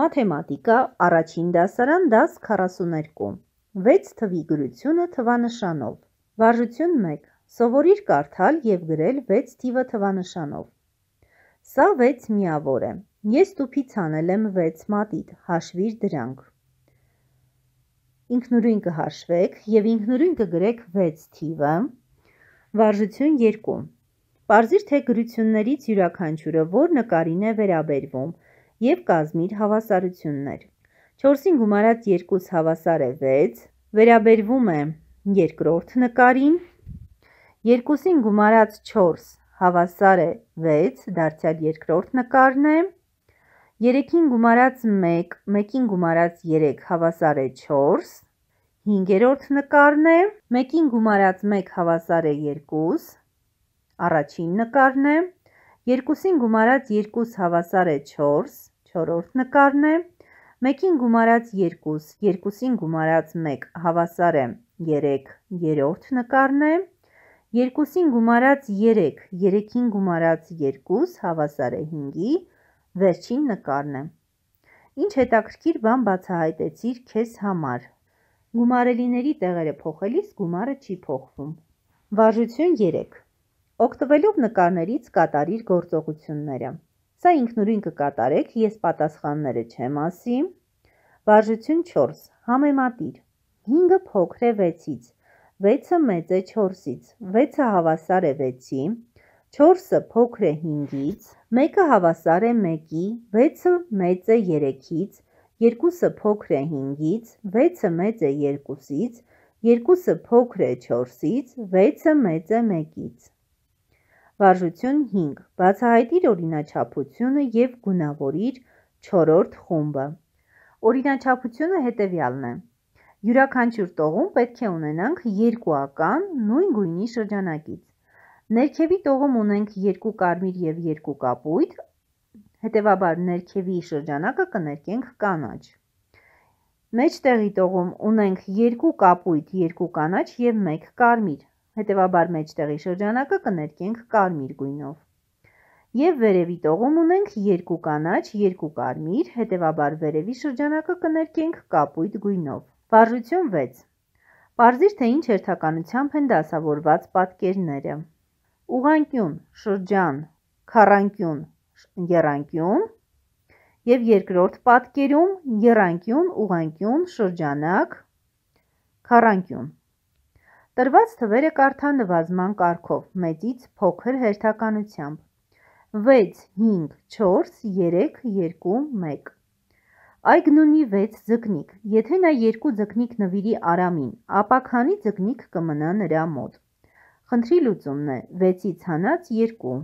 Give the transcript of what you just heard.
Մաթեմատիկա, առաջին դասարան, դաս 42, 6 թվի գրությունը թվանշանով, վարժություն 1, սովորիր կարդալ և գրել 6 թիվը թվանշանով, սա 6 միավոր է, ես տուփից հանել եմ 6 մատիտ, հաշվիր դրանք, ինքնուրույն կհաշվեք և ինքնուրույն կգրեք 6 թիվը, վարժություն 2, պարզիր թե գրություններից յուրաքանչյուրը որ նկարին է վերաբերվում և կազմիր հավասարություններ, 4-ին գումարած 2 հավասար է 6, վերաբերվում է երկրորդ նկարին, 2-ին գումարած 4 հավասար է 6, դարձյալ երկրորդ նկարն է, 3-ին գումարած 1, 1-ին գումարած 3 հավասար է 4, 5-րդ նկարն է, 1-ին գումարած 1 հավասար է 2, առաջին նկարն է, 2-ին գումարած 2 հավասար է 4, 4-րդ նկարն է, 1-ին գումարած 2, 2-ին գումարած 1 հավասար է 3, 3-րդ նկարն է, 2-ին գումարած 3, 3-ին գումարած 2 հավասար է 5-ի, վերջին նկարն է։ Ինչ հետաքրքիր բան բացահայտեցիր քեզ համար։ Գումարելիների տեղերը փոխելիս գումարը չի փոխվում։ Վարժություն 3։ Օգտվելով նկարներից կատարիր գործողությունները։ Սա ինքնուրույն կկատարեք, ես պատասխանները չեմ ասի։ Վարժություն 4։ Համեմատիր։ 5-ը փոքր է 6-ից, 6-ը մեծ է 4-ից, 6-ը հավասար է 6-ի, 4-ը փոքր է 5-ից, 1-ը հավասար է 1-ի, 6-ը մեծ է 3-ից, 2-ը փոքր է 5-ից, 6-ը մեծ է 2-ից, 2-ը փոքր է 4-ից, 6-ը մեծ է 1-ից։ Վարժություն 5. Բացահայտիր օրինաչափությունը և գունավորիր 4-րդ խումբը։ Օրինաչափությունը հետևյալն է. յուրաքանչյուր տողում պետք է ունենանք երկուական նույն գույնի շրջանակից։ Ներքևի տողում ունենք 2 կարմիր և 2 կապույտ, հետևաբար ներքևի շրջանակը կներկենք կանաչ։ Մեջտեղի տողում ունենք 2 կապույտ, 2 կանաչ և 1 կարմիր, հետևաբար մեջտեղի շրջանակը կներկենք կարմիր գույնով։ Եվ վերևի տողում ունենք 2 կանաչ, 2 կարմիր, հետևաբար վերևի շրջանակը կներկենք կապույտ գույնով։ Վարժություն 6։ Պարզիր թե ինչ հերթականությամբ են դասավորված պատկերները։ Ուղղանկյուն, շրջան, քառանկյուն, եռանկյուն և երկրորդ պատկերում եռանկյուն, ուղղանկյուն, շրջանակ, քառանկյուն։ Տրված թվերը կարդա նվազման կարգով, մեծից փոքր հերթականությամբ։ 6, 5, 4, 3, 2, 1։ Այգն ունի 6 ձկնիկ, եթե նա 2 ձկնիկ նվիրի Արամին, ապա քանի ձկնիկ կմնա նրա մոտ։ Խնդրի լուծումն է 6-ից հանած 2։